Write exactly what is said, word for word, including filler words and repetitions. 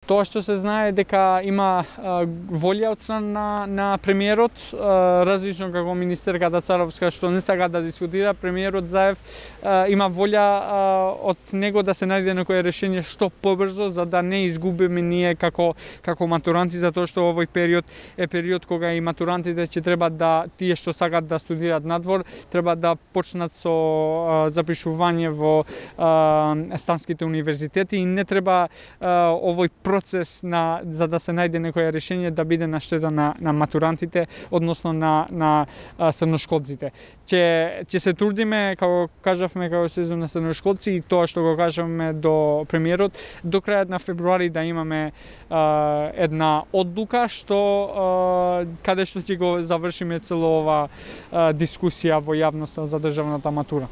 Тоа што се знае дека има а, волја од страна на, на премиерот, а, различно како министерката Царовска што не сака да дискутира, премиерот Заев а, има волја а, од него да се најде некое решение што побрзо за да не изгубиме ние како како матуранти, затоа што овој период е период кога и матурантите ќе треба да тие што сакат да студираат надвор треба да почнат со а, запишување во а, станските универзитети и не треба а, овој процес на за да се најде некое решение да биде на штета на, на матурантите, односно на на а, средношколците. Ќе ќе се трудиме, како кажавме, како сезон на средношколци и тоа што го кажавме до премиерот, до крајот на февруари да имаме а, една одлука што а, каде што ќе го завршиме цело ова а, дискусија во јавноста за државната матура.